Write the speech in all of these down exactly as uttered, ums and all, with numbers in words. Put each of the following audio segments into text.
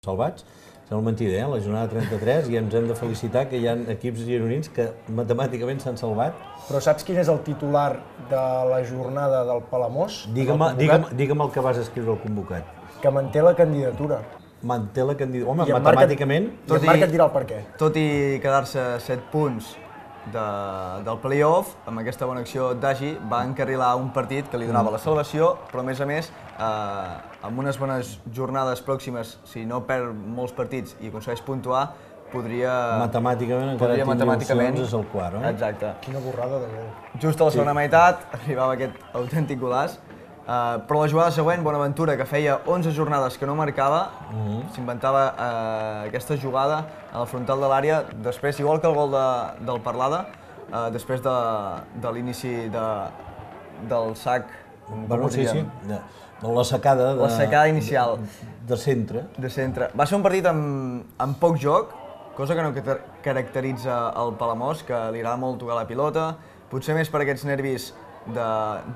salvats. Sembla mentida, eh? La jornada trenta-tres, i ens hem de felicitar que hi ha equips gironins que matemàticament s'han salvat. Però saps quin és el titular de la jornada del Palamós? Digue'm, digue'm, digue'm el que vas escriure al convocat. Que manté la candidatura. Manté la candidatura. Home, I en matemàticament... Marc, i en Marc et dirà el per què. Tot i quedar-se set punts de, del play-off, amb aquesta bona acció d'Agi va encarrilar un partit que li donava la salvació, però a més a més, eh, amb unes bones jornades pròximes, si no perd molts partits i aconsegueix puntuar, podria... Matemàticament encara podria, tindria opcions, és el quart, eh? Exacte. Quina borrada de gol. Just a la segona meitat arribava aquest autèntic golaç. Uh, però la jugada següent, Bonaventura, que feia onze jornades que no marcava, uh-huh. s'inventava uh, aquesta jugada a la frontal de l'àrea, després, igual que el gol de, del Parlada, uh, després de, de l'inici de, del sac, bueno, sí, sí, de, de la secada, de, la secada inicial de, de centre. De centre. Va ser un partit amb, amb poc joc, cosa que no caracteritza el Palamós, que li agrada molt tocar la pilota, potser més per aquests nervis De,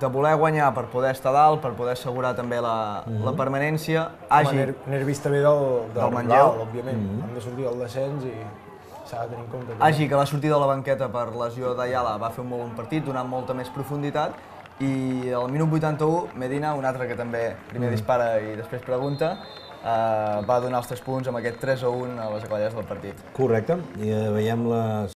de voler guanyar per poder estar dalt, per poder assegurar també la, uh-huh. la permanència. Hagi... Ner nervis també del, del, del Manlleu, òbviament. Uh-huh. Han de sortir al descens i s'ha de tenir en compte. Hagi, que va sortir de la banqueta per lesió d'Ayala, va fer un molt bon partit, donant molta més profunditat. I al minut vuitanta-u, Medina, un altre que també primer uh-huh. dispara i després pregunta, eh, va donar els tres punts amb aquest tres a un a les acaballes del partit. Correcte. I eh, veiem les